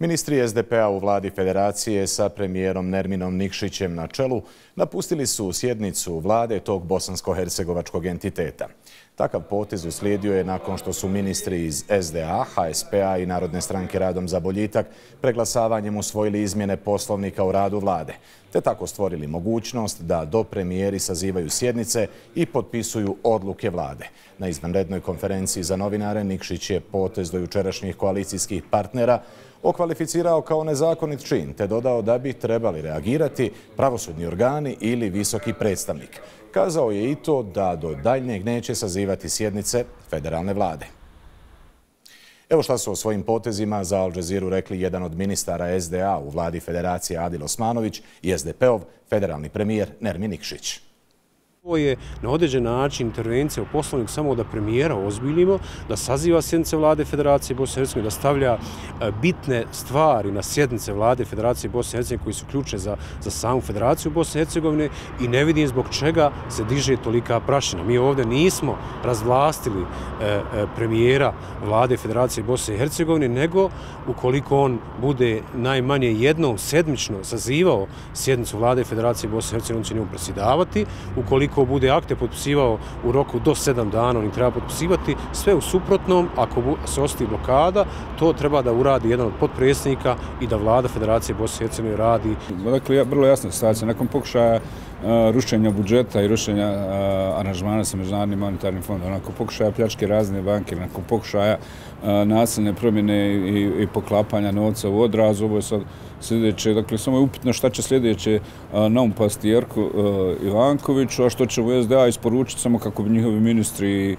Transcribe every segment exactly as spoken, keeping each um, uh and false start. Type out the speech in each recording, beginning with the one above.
Ministri S D P-a u vladi Federacije sa premijerom Nerminom Nikšićem na čelu napustili su sjednicu vlade tog bosansko-hercegovačkog entiteta. Takav potez uslijedio je nakon što su ministri iz S D A, H S P-a i Narodne stranke Radom za boljitak preglasavanjem usvojili izmjene poslovnika o radu vlade, te tako stvorili mogućnost da dopremijeri sazivaju sjednice i potpisuju odluke vlade. Na izvanrednoj konferenciji za novinare Nikšić je potez do jučerašnjih koalicijskih partnera okvalificirao kao nezakonit čin, te dodao da bi trebali reagirati pravosudni organi ili visoki predstavnik. Kazao je i to da do daljnjeg neće sazivati sjednice federalne vlade. Evo šta su o svojim potezima za Al Jazeeru rekli jedan od ministara S D A u vladi Federacije Adil Osmanović i S D P-ov federalni premijer Nermin Nikšić. Ovo je na određen način intervencija u poslovnik samo da premijera ozbiljimo, da saziva sjednice vlade Federacije Bosne i Hercegovine, da stavlja bitne stvari na sjednice vlade Federacije Bosne i Hercegovine koji su ključne za, za samu Federaciju Bosne i Hercegovine i ne vidim zbog čega se diže tolika prašina. Mi ovdje nismo razvlastili e, premijera vlade Federacije Bosne i Hercegovine, nego ukoliko on bude najmanje jednom sedmično sazivao sjednicu vlade Federacije Bosne i Hercegovine, on će njemu predsjedavati. Ukoliko Ako bude akte potpisivao u roku do sedam dana, on ih treba potpisivati. Sve u suprotnom, ako se ostavi blokada, to treba da uradi jedan od potpredsjednika i da vlada Federacije Bosne i Hercegovine radi. Dakle, vrlo jasna situacija. Nakon pokušaja rušenja budžeta i rušenja aranžmana sa Međunarodnim monetarnim fondom, nakon pokušaja pljačke razne banke, nakon pokušaja nasilne promjene i poklapanja novca u odrazu, ovo je sad sljedeće. Dakle, samo je upitno šta će sljedeće naumpasti Jerku Ivankoviću, a što će u S D A isporučiti samo kako bi njihovi ministri i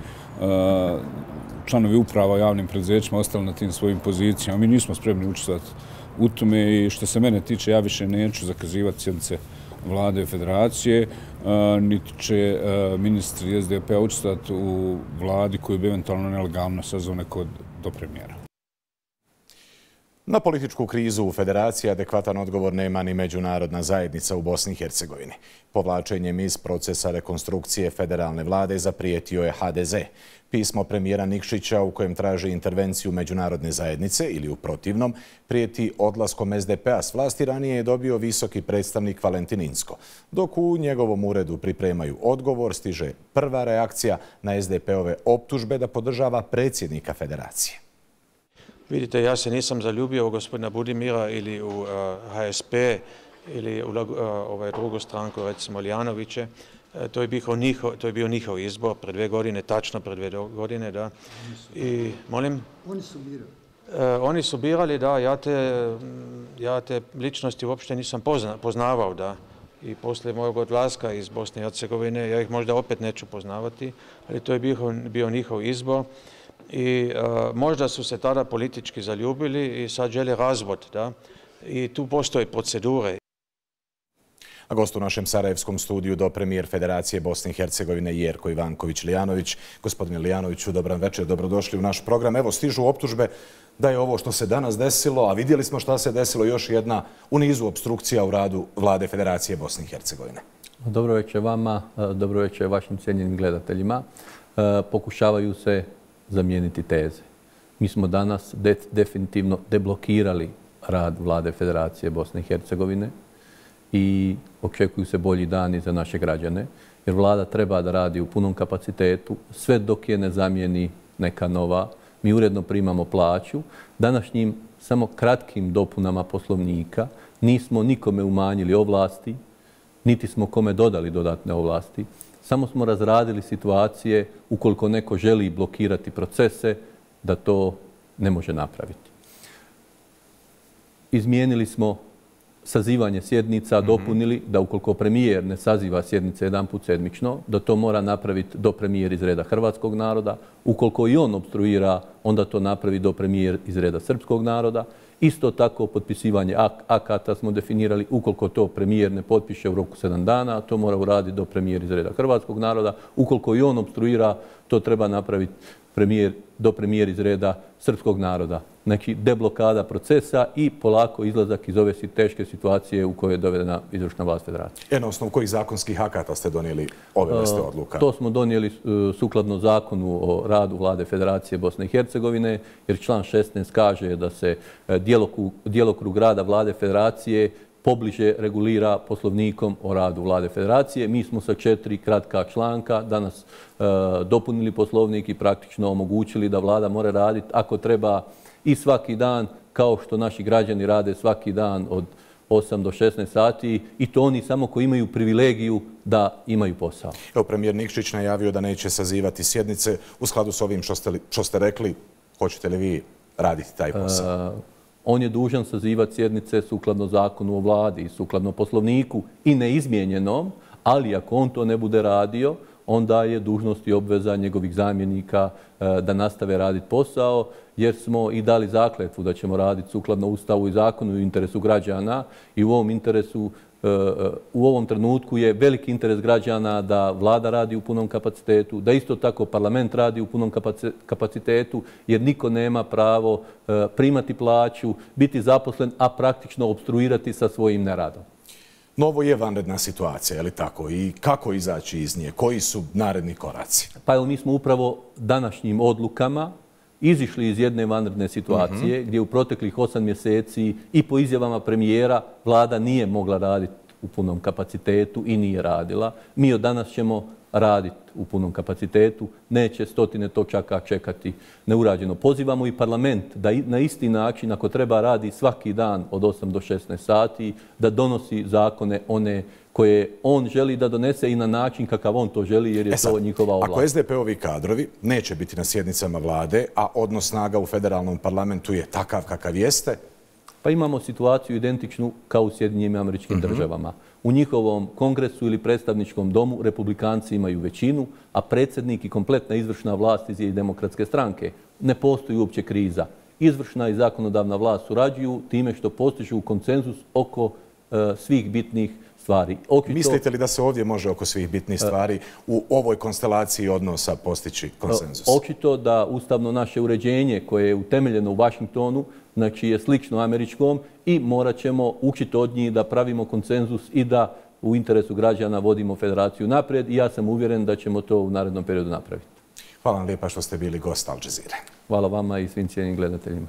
članovi uprava javnim preduzećima ostali na tim svojim pozicijama. Mi nismo spremni učestvovati u tome i što se mene tiče, ja više neću zakazivati sjednice vlade Federacije, niti će ministri S D P-a učestvovati u vladi koju bi eventualno nelegalno sazvao neko do premijera. Na političku krizu u Federaciji adekvatan odgovor nema ni međunarodna zajednica u Bosni i Hercegovini. Povlačenjem iz procesa rekonstrukcije federalne vlade zaprijetio je H D Z. Pismo premijera Nikšića u kojem traži intervenciju međunarodne zajednice ili u protivnom prijeti odlaskom S D P-a s vlasti ranije je dobio visoki predstavnik Valentin Inzko. Dok u njegovom uredu pripremaju odgovor, stiže prva reakcija na S D P-ove optužbe da podržava predsjednika Federacije. Vidite, ja se nisam zaljubio u gospodina Budimira ili u H S P ili u ovaj drugu stranku, recimo Lijanoviće. To je bio njihov, to je bio njihov izbor pred dve godine, tačno pred dve godine, da. I, molim? Oni su birali. Oni su birali, da, ja te, ja te ličnosti uopšte nisam pozna, poznavao, da. I poslije mojeg odlaska iz Bosne i Hercegovine, ja ih možda opet neću poznavati, ali to je bio, bio njihov izbor. I uh, možda su se tada politički zaljubili i sad žele razvod, da? I tu postoje procedure. A gost u našem sarajevskom studiju dopremijer Federacije Bosne i Hercegovine Jerko Ivanković Lijanović. Gospodine Lijanoviću, dobar večer, dobrodošli u naš program. Evo, stižu optužbe da je ovo što se danas desilo, a vidjeli smo šta se desilo, još jedna u nizu opstrukcija u radu vlade Federacije Bosne i Hercegovine. Dobro večer vama, dobro večer vašim cijenjenim gledateljima. Pokušavaju se zamijeniti teze. Mi smo danas de definitivno deblokirali rad vlade Federacije Bosne i Hercegovine i očekuju se bolji dani za naše građane, jer vlada treba da radi u punom kapacitetu, sve dok je ne zamijeni neka nova. Mi uredno primamo plaću. Današnjim samo kratkim dopunama poslovnika nismo nikome umanjili ovlasti, niti smo kome dodali dodatne ovlasti. Samo smo razradili situacije ukoliko neko želi blokirati procese, da to ne može napraviti. Izmijenili smo sazivanje sjednica, dopunili da ukoliko premijer ne saziva sjednice jedan put sedmično, da to mora napraviti do premijer iz reda hrvatskog naroda. Ukoliko i on obstruira, onda to napravi do premijer iz reda srpskog naroda. Isto tako potpisivanje ak akata smo definirali, ukoliko to premijer ne potpiše u roku sedam dana, to mora uraditi do premijer iz reda hrvatskog naroda. Ukoliko i on obstruira, to treba napraviti premijer, do premijer iz reda srpskog naroda. Znači, deblokada procesa i polako izlazak iz ove teške situacije u kojoj je dovedena izvršna vlast federacije. E, na osnovu kojih zakonskih akata ste donijeli ove vrste odluka? To smo donijeli sukladno zakonu o radu Vlade Federacije Bosne i Hercegovine, jer član šesnaest kaže da se djelokrug rada Vlade Federacije pobliže regulira poslovnikom o radu Vlade Federacije. Mi smo sa četiri kratka članka danas e, dopunili poslovnik i praktično omogućili da Vlada mora raditi ako treba i svaki dan, kao što naši građani rade svaki dan od osam do šesnaest sati, i to oni samo koji imaju privilegiju da imaju posao. Evo, premijer Nikšić najavio da neće sazivati sjednice. U skladu s ovim što ste, što ste rekli, hoćete li vi raditi taj posao? E, On je dužan sazivati sjednice sukladno zakonu o vladi, sukladno poslovniku i neizmijenjenom, ali ako on to ne bude radio, onda je dužnost i obveza njegovih zamjenika da nastave raditi posao, jer smo i dali zakletvu da ćemo raditi sukladno Ustavu i zakonu u interesu građana i u ovom interesu u ovom trenutku je veliki interes građana da vlada radi u punom kapacitetu, da isto tako parlament radi u punom kapacitetu, jer niko nema pravo primati plaću, biti zaposlen, a praktično opstruirati sa svojim neradom. No, ovo je vanredna situacija, je li tako? I kako izaći iz nje? Koji su naredni koraci? Pa evo, mi smo upravo današnjim odlukama izišli iz jedne vanredne situacije, mm-hmm. gdje u proteklih osam mjeseci i po izjavama premijera vlada nije mogla raditi u punom kapacitetu i nije radila. Mi od danas ćemo raditi u punom kapacitetu, neće stotine točaka čekati neurađeno. Pozivamo i parlament da na isti način, ako treba, radi svaki dan od osam do šesnaest sati, da donosi zakone one koje on želi da donese i na način kakav on to želi, jer je e sad, to njihova ovlast. Ako es de pe ovi kadrovi neće biti na sjednicama vlade, a odnos snaga u federalnom parlamentu je takav kakav jeste? Pa imamo situaciju identičnu kao u Sjedinjenim Američkim mm-hmm. državama. U njihovom kongresu ili predstavničkom domu republikanci imaju većinu, a predsjednik i kompletna izvršna vlast iz demokratske stranke. Ne postoji uopće kriza. Izvršna i zakonodavna vlast surađuju time što postižu konsenzus oko uh, svih bitnih stvari. Očito, mislite li da se ovdje može oko svih bitnih stvari u ovoj konstelaciji odnosa postići konsenzus? Očito da ustavno naše uređenje koje je utemeljeno u Vašingtonu, znači je slično američkom, i morat ćemo učiti od njih da pravimo konsenzus i da u interesu građana vodimo federaciju naprijed, i ja sam uvjeren da ćemo to u narednom periodu napraviti. Hvala vam lijepa što ste bili gost Al Jazeere. Hvala vama i svim cijenim gledateljima.